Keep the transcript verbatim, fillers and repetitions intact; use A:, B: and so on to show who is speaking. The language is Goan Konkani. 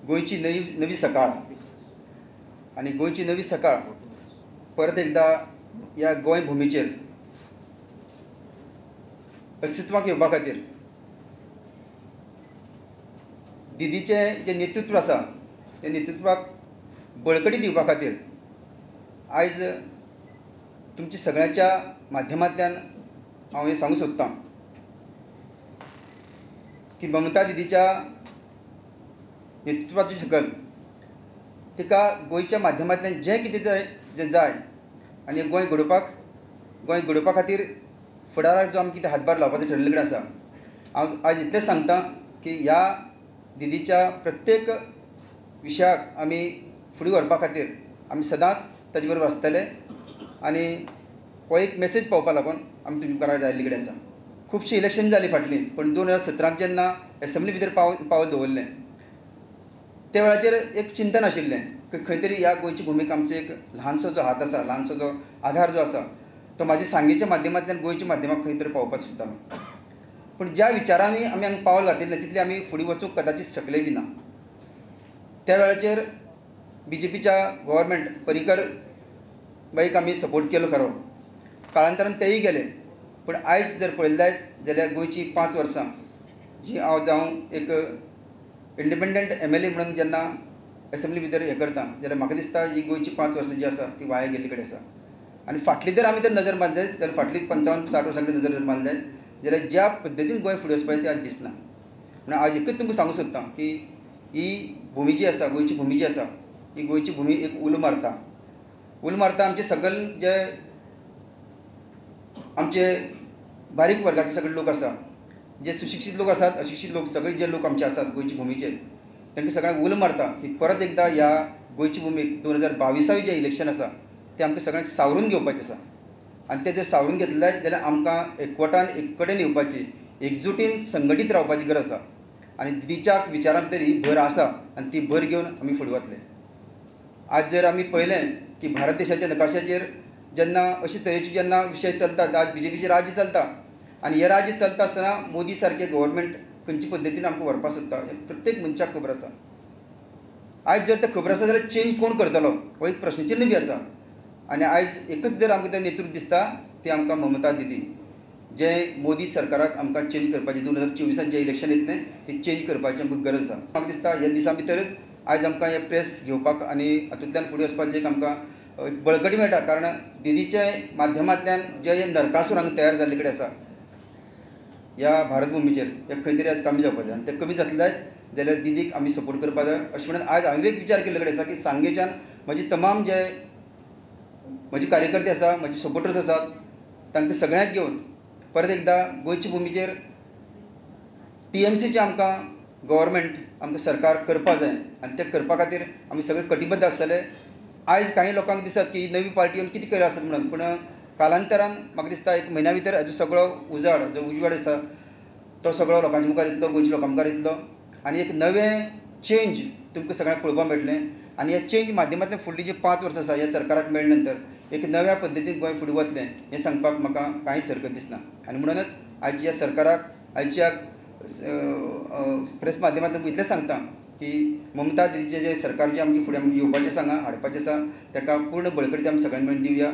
A: गोंयची नवी नवी सकाळ आनी गोंयची नवी सकाळ परत एकदा ह्या गोंय भुमीचेर अस्तित्वाक येवपा खातीर दिदीचें जें नेतृत्व आसा त्या नेतृत्वाक बळकटी दिवपा खातीर आयज तुमच्या सगळ्यांच्या माध्यमांतल्यान हांव हें सांगूंक सोदतां की ममता दिदीच्या नेतृत्वाची सकल तिका गोंयच्या माध्यमांतल्यान जें कितें जाय जें जाय आनी गोंय घडोवपाक गोंय घडोवपा खातीर फुडाराक जो आमी कितें हातभार लावपाचो ठरयल्ले कडेन आसा। हांव आयज इतलेंच सांगता की ह्या दिदीच्या प्रत्येक विशयाक आमी फुडें व्हरपा खातीर आमी सदांच ताजे बरोबर आसतले आनी हो एक मेसेज पावोवपा लागून आमी तुमच्या मुखार आयिल्ले कडेन आसा। खुबशीं इलेक्शन जालीं फाटलीं, पूण दोन हजार सतराक जेन्ना एसेंब्ली भितर पावल पावल दवरलें त्या वेळाचेर एक चिंतन आशिल्लें की खंय तरी ह्या गोंयची भुमीक आमचो एक ल्हानसो जो हात आसा, ल्हानसो जो आधार जो आसा तो म्हाज्या सांगेच्या माध्यमांतल्यान गोंयच्या माध्यमाक खंय तरी पावोवपाक सोदतालो। पूण ज्या विचारांनी आमी हांगा पावल घातिल्लें तितलें आमी फुडें वचूंक कदाचीत शकले बी ना। त्या वेळाचेर बी जे पीच्या गव्हर्मेंट पर्रीकर बाईक आमी सपोर्ट केलो खरो, काळांतरान तेय गेले। पूण आयज जर पळयलें जायत जाल्यार गोंयची पांच वर्सां जी हांव जावं एक इंडिपेंडंट एम एल ए म्हणून जेन्ना एसेंब्ली भितर हें करता जाल्यार म्हाका दिसता ही गोंयची पांच वर्सां जी आसा ती वाया गेल्ली कडेन आसा। आनी फाटली जर आमी जर नजर मारली जायत जाल्यार फाटली पंचावन्न साठ वर्सां कडेन नजर जर मारली जायत जाल्यार ज्या पद्दतीन गोंय फुडें वचपाचें तें आज दिसना। म्हणून आज एकूच तुमकां सांगूंक सोदता की ही भुमी जी आसा, गोंयची भुमी जी आसा, ही गोंयची भुमी एक उलो मारता, उलो मारता आमचे सगळे जे आमचे बारीक वर्गाचे सगळे लोक आसा, जे सुशिक्षीत लोक आसात, अशिक्षीत लोक, सगळे जे लोक आमचे आसात गोंयचे भुमीचेर तांकां सगळ्यांक उलो मारता की परत एकदा ह्या गोंयची भुमीक दोन हजार बावीसाय जें इलेक्शन आसा तें आमकां सगळ्यांक सावरून घेवपाचें आसा। आनी तें जर सावरून घेतलें जायत जाल्यार आमकां एकवटान एक कडेन येवपाची, एकजुटीन संघटीत रावपाची गरज आसा आनी दिदीच्या विचारां भितर ही भर आसा आनी ती भर घेवन आमी फुडें वतले। आज जर आमी पळयलें की भारत देशाच्या नकाशाचेर जेन्ना अशे तरेचे जेन्ना विशय चलतात, आज बी जे पीचें राज्य चलता आनी हें राज्य चलता आसतना मोदी सारकें गव्हर्मेंट खंयचे पद्दतीन आमकां व्हरपाक सोदता हें प्रत्येक मनशाक खबर आसा। आयज जर तें खबर आसा जाल्यार चेंज कोण करतलो हो एक प्रश्नचिन्ह बी आसा। आनी आयज एकूच जर आमकां तें नेतृत्व दिसता तें आमकां ममता दिदी, जें मोदी सरकाराक आमकां चेंज करपाचें दोन हजार चोवीसांत जें इलेक्शन येतलें तें चेंज करपाची आमकां गरज आसा। म्हाका दिसता ह्या दिसां भितरच आयज आमकां हें प्रेस घेवपाक आनी हातूंतल्यान फुडें वचपाचें एक आमकां एक बळकटी मेळटा, कारण दिदीच्या माध्यमांतल्यान जे हे नरकासूर हांगा तयार जाल्ले कडेन आसा ह्या भारत भुमीचेर हे खंय तरी आज कमी जावपाक जाय आनी तें कमी जातलें जायत जाल्यार दिदीक आमी सपोर्ट करपाक जाय अशें म्हणून आयज हांवें एक विचार केल्ले कडेन आसा की सांगेच्यान म्हजे तमाम जे म्हजे कार्यकर्ते आसा, म्हजे सपोर्टर्स आसात तांकां सगळ्यांक घेवन परत एकदां गोंयचे भुमीचेर टी एम सीचें आमकां गव्हर्मेंट आमकां सरकार करपाक जाय आनी तें करपा खातीर आमी सगळे कटिबद्ध आसतले। आयज कांय लोकांक दिसतात की नवी पार्टी येवन कितें करत आसत म्हणून, पूण कालांतरान म्हाका दिसता एक म्हयन्या भितर हाजो सगळो उजाड जो उजवाड आसा तो सगळो लोकांच्या मुखार येतलो, गोंयच्या लोकां मुखार येतलो आनी एक नवें चेंज तुमकां सगळ्यांक पळोवपाक मेळटलें। आनी ह्या चेंज माध्यमांतल्यान फुडलीं जी पांच वर्सां आसा ह्या सरकाराक मेळ्ळे नंतर एक नव्या पद्दतीन गोंय फुडें वतलें हें सांगपाक म्हाका कांयच हरकत दिसना। आनी म्हणूनच आयज ह्या सरकाराक आयच्या प्रेस माध्यमांतल्यान इतलेंच सांगता की ममता दिदीचें जें सरकार जें आमचें फुडें आमकां येवपाचें आसा हांगा हाडपाचें आसा ताका पूर्ण बळकटी आमी सगळ्यांनी मेळून दिवया।